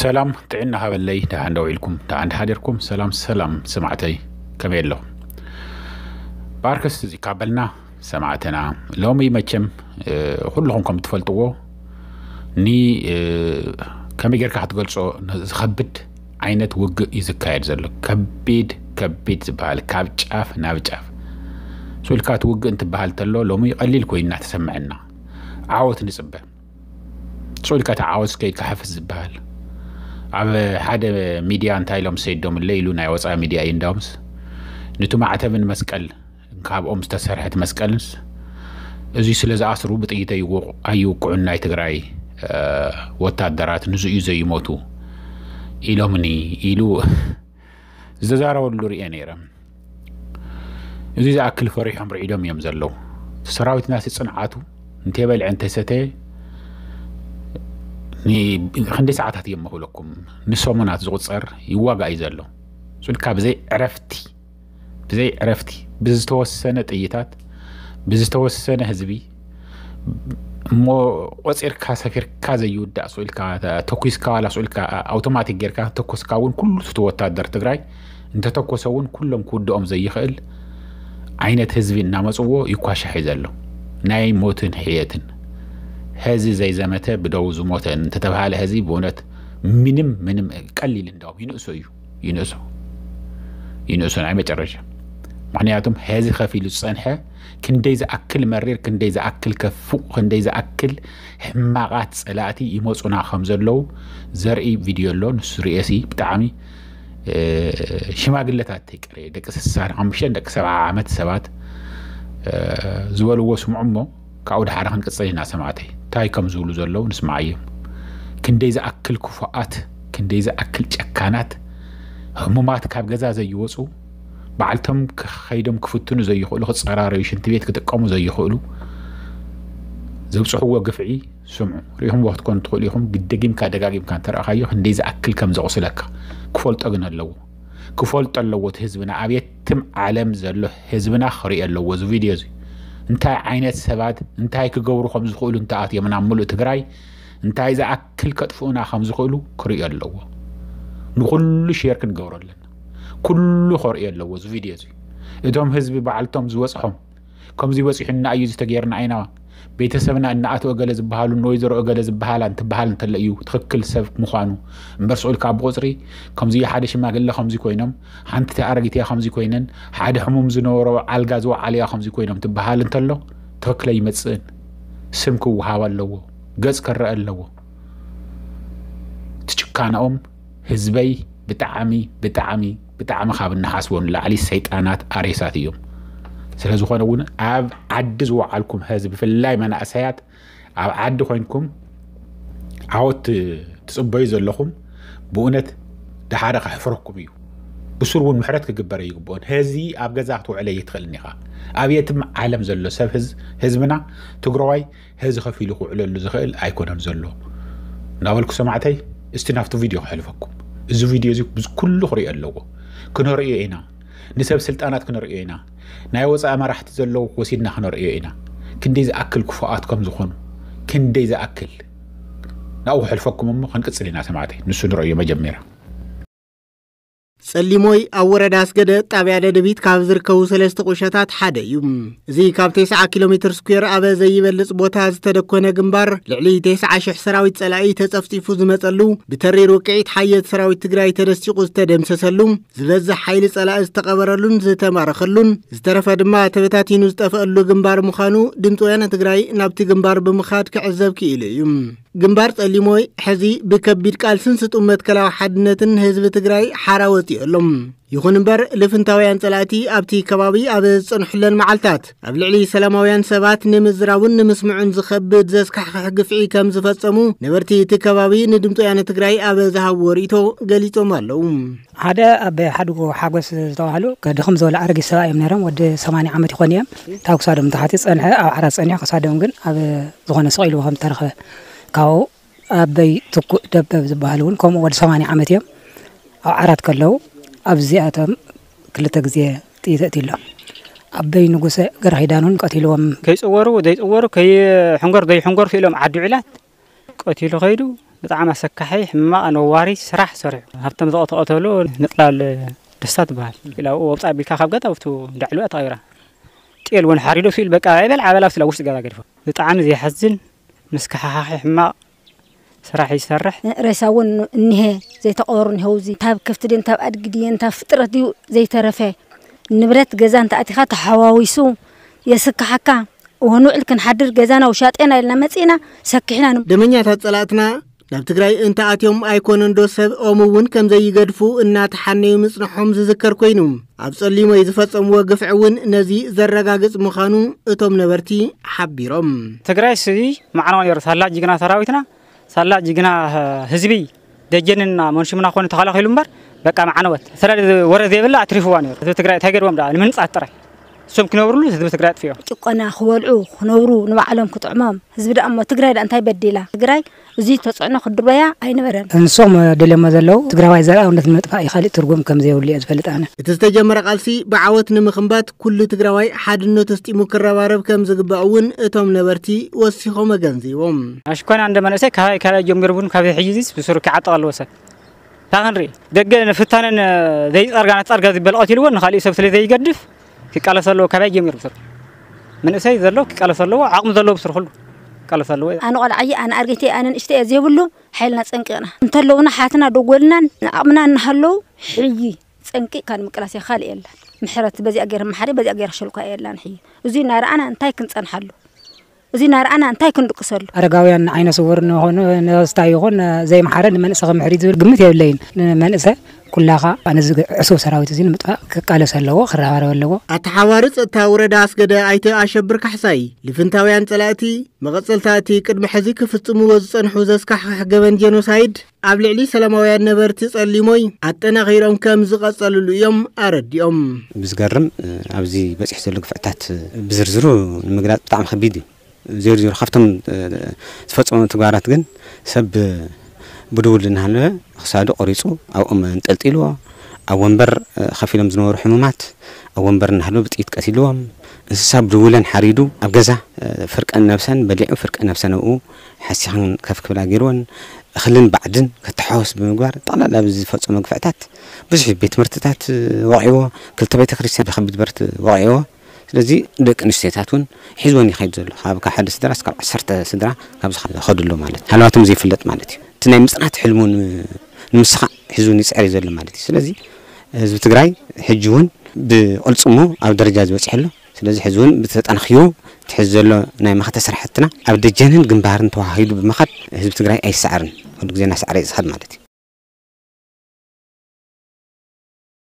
ሰላም ጥዕና ሃበለይ፣ ደሓን ደው ኢልኩም፣ ደሓን ደሓደርኩም። ሰላም ሰላም ሰማዕተይ፣ ከመይ ኣለኹም? ብኣርከስ እዚ ካብ በልና ሰማዕትና፣ ሎሚ መቸም፣ እ፣ ኩልኹም ከም ትፈልጥዎ፣ ኒ፣ እ፣ ከመይ ጌርካ ክትገልጾ ን-፣ ዝኸብድ ዓይነት ውግእ እዩ ዝካየድ ዘሎ። ከቢድ፣ ከቢድ ዝበሃል፣ ካብ ጫፍ ናብ ጫፍ። ስኢልካ እቲ ውግእ እንትበሃል ተሎ፣ ሎሚ ቀሊል ኮይኑ እናተሰምዐና፣ ዓወት ንጽበ። ስኢልካ እቲ ዓወት ከይድካ ሓፍስ ዝበሃል። ኣብ ሓደ ሚድያ እንታይ ኢሎም ሰይዶምለ ኢሉ፣ ናይ ወፃኢ ሚድያ እዩ እንዳውምስ፣ ንቱ ማዕተብን መስቀል፣ ካብኦም ዝተሰርሐት መስቀልንስ፣ እዚ ስለ ዝኣስሩ ብጥይት ኣይወ-፣ ኣይውቅዑን ናይ ትግራይ፣ እ፣ ወታደራት፣ ንዙ እዩ ዘይሞቱ ኢሎምኒ ኢሉ ዝተዛረበሉ ርእየ ነይረ። እዚ ዝኣክል ፈሪሖም ርዒዶም እዮም ዘለዉ። ሰራዊትና ሲ ጽንዓቱ እንተይበልዐ እንተይሰተየ ኒ-፣ ክንደይ ሰዓታት እዮም መኽብለኩም? ንሰሙናት ዝቑጸር ይዋጋእ እዩ ዘሎ። ስኢልካ ብዘይ ዕረፍቲ፣ ብዘይ ዕረፍቲ፣ ብዝተወሰነ ጥይታት፣ ብዝተወሰነ ህዝቢ፣ እሞ ቆጺርካ ሰፊርካ ዘይውዳእ ስኢልካ፣ ተኩስካ ዋላ ስኢልካ ኣውቶማቲክ ጌርካ ተኮስካ እውን ኩሉ እቲ ወታደር ትግራይ እንተተኮሰ እውን ኩሎም ክውድኦም ዘይኽእል ዓይነት ህዝቢ እናመፅዎ ይኳሻሕ እዩ ዘሎ። ናይ ሞትን ሕየትን። ህዚ ዘይዘመተ ብደው ዝሞተ እንተተባሃለ ህዚ ብእውነት ምንም፣ ምንም ቀሊል እንዳውም ይንእሶ እዩ። ይንእሶ። ይንእሶ ናይ መጨረሻ። ምክንያቱም ህዚ ከፊሉ ዝፀንሐ ክንደይ ዝኣክል መሪር፣ ክንደይ ዝኣክል ከፉቕ፣ ክንደይ ዝኣክል ሕማቓት ፀላእቲ ይመፁና ከም ዘለዉ ዘርኢ ቪድዮ ኣሎ። ንሱ ርእየሲ ብጣዕሚ፣ እ፣ ሽማግለታት ተይቀረ፣ ደቂ ስሳን ሓሙሽተን ደቂ ሰብዓ ዓመት ሰባት፣ እ፣ ዝበልዎ ስምዑ እሞ ካብኡ ድሓር ክንቅፅል ኢና ሰማዕተይ። እንታይ ከም ዝብሉ ዘለዉ ንስማዓዮም። ክንደይ ዝኣክል ክፉኣት፣ ክንደይ ዝኣክል ጨካናት፣ ህሙማት ካብ ገዛ ዘይወፁ፣ ባዕልቶም ከ-፣ ከይዶም ክፍትኑ ዘይኽእሉ፣ ክፀራረዩ፣ ሽንቲ ቤት ክጥቀሙ ዘይኽእሉ፣ ዘብፅሕዎ ግፍዒ ስምዑ። ሪኢኹምዎ ክትኮኑ ትኽእሉ ኢኹም። ደጊምካ ደጋጊምካ እንተረኣኻዮ ክንደይ ዝኣክል ከም ዘቑስለካ ክፈልጦ ግን ኣለዎ። ክፈልጦ ኣለዎ እቲ ህዝብና። ኣብ የትም ዓለም ዘሎ ህዝብና ክሪኦ ኣለዎ እዚ ቪድዮ እዚ። እንታይ ዓይነት ሰባት እንታይ ክገብሩ ከም ዝኽእሉ እንተኣትዮም ናብ ምሉእ ትግራይ እንታይ ዝኣክል ከጥፍኡና ከም ዝኽእሉ ክሪኦ ኣለዎ። ንኹሉ ሼር ክንገብሮ ኣለና። ኩሉ ክሪኦ ኣለዎ እዚ ቪድዮ እዚ። እቶም ህዝቢ ባዕልቶም ዝበፅሖም ከምዚ በፂሑና እዩ፣ እዚ ተገይርና ኢና፣ ቤተሰብና እናኣተወ ገለ ዝበሃሉ ንወይዘሮ እገለ ዝበሃላ እንትበሃል እንተሎ እዩ ትኽክል ሰብ ምዃኑ። እምበር ስቑኢልካ ብቑፅሪ ከምዚ ሓደ ሽማግለ ከምዚ ኮይኖም፣ ሓንቲ ኣረጊት እያ ከምዚ ኮይነን፣ ሓደ ሕሙም ዝነበሮ ኣልጋ ዝወዓለ እያ ከምዚ ኮይኖም ትበሃል እንተሎ ትኽክል ኣይመፅእን። ስም ክወሃብ ኣለዎ፣ ገፅ ክረአ ኣለዎ። እቲ ጭካናኦም ህዝበይ ብጣዕሚ፣ ብጣዕሚ፣ ብጣዕሚ ካብ እንሓስቦ ንላዕሊ ሰይጣናት ኣሬሳት እዮም። ስለ ዝኾነ እውን ኣብ ዓዲ ዝወዓልኩም ህዝቢ፣ ብፍላይ መናእሰያት ኣብ ዓዲ ኮይንኩም ዓወት ትጽበዩ ዘለኹም፣ ብእውነት ደሓረ ከሕፍረኩም እዩ። ብሱር እውን ምሕረት ክግበር ኣይግብኦን። ህዚ ኣብ ገዛ ክትውዕለ ኣይትኽእልን ኢኻ። ኣብ የትም ዓለም ዘሎ ሰብ ህዝ-፣ ህዝብና ትግራዋይ ህዚ ከፊሉ ክውዕለሉ ዝኽእል ኣይኮነን ዘሎ። እናበልኩ ሰማዕተይ፣ እስቲ ናብቲ ቪድዮ ከሕልፈኩም። እዚ ቪድዮ እዚ ብዝ-፣ ኩሉ ክሪኦ ኣለዎ። ክነርእዮ ኢና። ንሰብ ስልጣናት ክነርእዮ ኢና። ናይ ወፃኢ መራሕቲ ዘለዉ ወሲድና ክነርእዮ ኢና። ክንደይ ዝኣክል ክፉኣት ከም ዝኾኑ፣ ክንደይ ዝኣክል። ናብኡ ከሕልፈኩም እሞ ክንቅጽል ኢና ሰማዕተይ። ንሱ ንርእዮ መጀመርያ። ጸሊሞይ ኣብ ወረዳ ኣስገደ ጣብያ ደደቢት ካብ ዝርከቡ ሰለስተ ቁሸታት ሓደ እዩ። እዚ ካብ ተስዓ ኪሎ ሜትር ስኩዌር ኣብ ዘይበልጽ ቦታ ዝተደኮነ ግንባር ልዕሊ ተስዓ ሽሕ ሰራዊት ጸላኢ ተጸፍጺፉ ዝመጸሉ፣ ብተሪር ውቅዒት ሓየት ሰራዊት ትግራይ ተደሲቑ ዝተደምሰሰሉ፣ ዝበዝሕ ሓይሊ ጸላኢ ዝተቐበረሉን ዝተማረኸሉን፣ ዝተረፈ ድማ ተበታቲኑ ዝጠፍአሉ ግንባር ምዃኑ ድምፂ ወያነ ትግራይ ናብቲ ግንባር ብምኻድ ክዕዘብ ክኢሉ እዩ። ግንባር ጸሊሞይ ሕዚ ብከቢድ ቃልስን ስጡም መትከላዊ ሓድነትን ህዝቢ ትግራይ ሓራ ወፂኡ ኣሎ። ይኹን እምበር፣ ልፍንታውያን ጸላእቲ ኣብቲ ከባቢ ኣብ ዝጸንሑለን መዓልታት፣ ኣብ ልዕሊ ሰላማውያን ሰባት ንምዝራቡን ንምስምዑን ዝኸብድ ዘስካሕክሕ ግፍዒ ከም ዝፈጸሙ ነበርቲ እቲ ከባቢ ንድምፂ ወያነ ትግራይ ኣብ ዝሃብዎ ርእይቶ ገሊጾም ኣለዉ። ሓደ ኣቦይ ሓድጉ ሓጎስ ዝተባህሉ፣ ከድኽም ዝበሉ ኣረጊት ሰብኣይ እዮም ነይሮም። ወዲ ሰማንያ ዓመት ይኾኑ እዮም። ካብ ክሳዶም ንታሕቲ ጸንሐ፣ ኣብ ዓራት ጸኒሑ፣ ክሳዶም ግን ኣብ ዝኾነ ስቕ ኢሉ ከም ዝተረኸበ። ካብኡ ኣቦይ ትኩእ ደበብ ዝበሃሉ እውን ከምኡ ወዲ ሰማንያ ዓመት እዮም። ኣብ ዓራት ከለዉ ኣብዚኣቶም ክልተ ግዜ ጥይት ኣእትዩሎም። ኣቦይ ንጉሰ ገረኺዳን እውን ቀቲልዎም። ከይጽወሩ ዘይጽወሩ፣ ከይሕንገሩ ዘይሕንገሩ ስኢሎም ዓዲ ውዕላት ቀቲሉ ከይዱ። ብጣዕሚ ኣሰካሒ ሕማቕ ነዋሪ ስራሕ ሰሪሑ። ሃብቶም ዝተቐተቐተሉ ምጥላል ደስታ ትበሃል ኢላ ኣብኡ ወብፃ ኣቢልካ ካብ ገዛ ኣብቱ ዳዕሉ ተቐይራ። ጤል እውን ሓሪዶ ስኢል በቃ ኣይበል ዓበላ ኣብቲ ውሽጢ ገዛ ገድፎ። ብጣዕሚ ዘሕዝን ምስክሓኻሒ ሕማቕ ስራሕ ይሰርሕ። ሬሳ እውን እኒሀ ዘይተቐበሩ እኒሀው። እዚ ካብ ከፍቲ ድን ካብ ኣድጊ ድየን ካብ ፍጥረት ድዩ ዘይተረፈ ንብረት ገዛ እንተኣቲኻ ተሓዋዊሱ የስክሓካ። ወንውዕል ክንሓድር ገዛና ውሻጤና ኢልና መጺእና ሰኪሕና ን- ደመኛታት ጸላእትና ናብ ትግራይ እንተኣትዮም ኣይኮነን ዶ ሰብ ኦም እውን ከም ዘይገድፉ እናተሓነዩ ምጽንሖም ዝዝከር ኮይኑ፣ ኣብ ጸሊሞይ ዝፈጸምዎ ግፍዒ እውን ነዚ ዘረጋግጽ ምዃኑ እቶም ነበርቲ ሓቢሮም። ትግራይ ስዚ ማዕነዋ ነይሩ። ሳላ ጅግና ሰራዊትና፣ ሳላ ጅግና ህዝቢ ደጀንና መንሽምና ኮነ ተኸላኺሉ እምበር በቃ ማዕነወት። ስለዚ ወረ ዘይብላ ኣትሪፍዋ ነይሩ። ህዝቢ ትግራይ እንታይ ገድዎም ደኣ? ንምህንጻት ጥራይ። እሶም ክነብርሉ ህዝቢ ትግራይ ኣጥፊኦም። ጭቆና ክበልዑ ክነብሩ ንባዕሎም ክጥዕሞም። ህዝቢ ደኣ እሞ ትግራይ ደኣ እንታይ በዲላ? ትግራይ እዚ ተጽዕኖ ክድርበያ ኣይነበረን። ንሶም ደልዮሞ ዘለዉ ትግራዋይ ዘርኣውነት ንምጥፋእ እዩ፣ ካሊእ ትርጉም ከም ዘይብሉ እየ ዝፈልጥ ኣነ። እቲ ዝተጀመረ ቃልሲ ብዓወት ንምኽንባት ኩሉ ትግራዋይ ሓድነቱ ኣስጢሙ ክረባረብ ከም ዝግባእ እውን እቶም ነበርቲ ወሲኾም ኣገንዚቦም። ኣሽኮና እንደ መንእሰይ ካባይ ካባይ ጀሚሩ እውን ካብ ሕጂ ዚስ ብስሩ ክዓጥቕ ኣለዎ ሰብ። እታ ክንርኢ ደገ ንፍታነን ዘይጸርጋ ናጸርጋ ዝበል ቀቲልዎ ንኻሊእ ሰብ ስለ ዘይገድፍ ክቃለስ ኣለዎ። ካባይ ጀሚሩ ብስሩ መንእሰይ ዘሎ ክቃለስ ኣለዎ። ዓቕሚ ዘለዎ ብስሩ ኩሉ ክቃለስ ኣለዎ። ኣነ ቆልዓየ ኣነ ኣርጌቴ ኣነ ንእሽተየ ዘይብሉ ሓይልና ጸንቂቕና እንተለውና ሓትና ደጎልናን ንዓቕምና እናሃለዉ ሕዪ ጸንቂቕካ ንምቅላስ እየ፣ ካልእ የላን። ምሕረት በዚኣ ገይረ መሓሪ በዚኣ ገይረ ሸልኳ የላን። ሕዪ እዙይ እናረኣና እንታይ ክንጸንሓሉ? እዙይ እናረኣና እንታይ ክንድቅሰሉ? ኣረጋውያን ዓይነ ስውር ንኾኑ ነስታ ይኹን ዘይመሓረ ንመንእሰ ክምሕር እዩ ዝብል ግምት የብለይን። ንመንእሰ ኩላኻ ነዚ ዕሱብ ሰራዊት እዚ ንምጥፋእ ክቃለስ ኣለዎ፣ ክረባረብ ኣለዎ። ኣተሓዋሪ ጸጥታ ወረዳ ኣስገደ ኣይተ ኣሸብር ካሕሳይ ልፍንታውያን ጸላእቲ መቐጸልታ እቲ ቅድሚ ሕዚ ክፍጽምዎ ዝጸንሑ ዘስካሕክሕ ገበን ጄኖሳይድ ኣብ ልዕሊ ሰላማውያን ነበርቲ ጸሊሞይ ኣጠናኺሮም ከም ዝቐጸልሉ እዮም ኣረዲኦም። ብዝገርም ኣብዚ በጺሑ ዘሎ ግፍዕታት ብዝርዝሩ ንምግላጽ ብጣዕሚ ከቢድ እዩ። ዜርዜሩ ካብቶም ዝፈጸሙ ተግባራት ግን ሰብ ብድውል እናሃለወ ክሳዱ ቆሪጹ ኣብ ኦም ኣንጠልጢልዎ ኣብ ወንበር ከፊሎም ዝነበሩ ሕሙማት ኣብ ወንበር እናሃለወ ብጥይት ቀቲልዎም። እንስሳ ብድውለን ሓሪዱ ኣብ ገዛ ፍርቀን ነብሰን በሊዑ ፍርቀን ነብሰን ኣብኡ ሓሲኽን ከፍ ክብላ ገይርወን። እኽልን ባዕድን ከተሓወስ ብምግባር ጠቕላላ ኣብዚ ዝፈጸሞ ግፍዕታት ብዙሕ ቤት ትምህርትታት ወቒዕዎ፣ ክልተ ቤተ ክርስቲያን ብከቢድ ብረት ወቒዕዎ። ስለዚ ደቂ ኣንስትዮታት እውን ሒዝወን ይኸይድ ዘሎ ካብ ካብ ሓደ ስድራ እስካብ ዓሰርተ ስድራ ካብዚ ከዱ ኣሎ ማለት እዩ። ሃለዋቶም ዘይፍለጥ ማለት እዩ። እቲ ናይ ምፅናት ሕልሙ ንምስኻዕ ሒዝውን ይፅዕር እዩ ዘሎ ማለት እዩ። ስለዚ ህዝቢ ትግራይ ሕጂ እውን ብቕልፅሙ ኣብ ደረጃ ዝበፅሐ ኣሎ። ስለዚ ሕዚ እውን ብተጠናኺሩ እቲ ሕዚ ዘሎ ናይ መኸተ ስራሕትና ኣብ ደጀንን ግንባርን ተዋሂዱ ብምኻድ ህዝቢ ትግራይ ኣይሰዓርን፣ ኩሉ ግዜ እናሰዓረ እዩ ዝኸድ ማለት እዩ።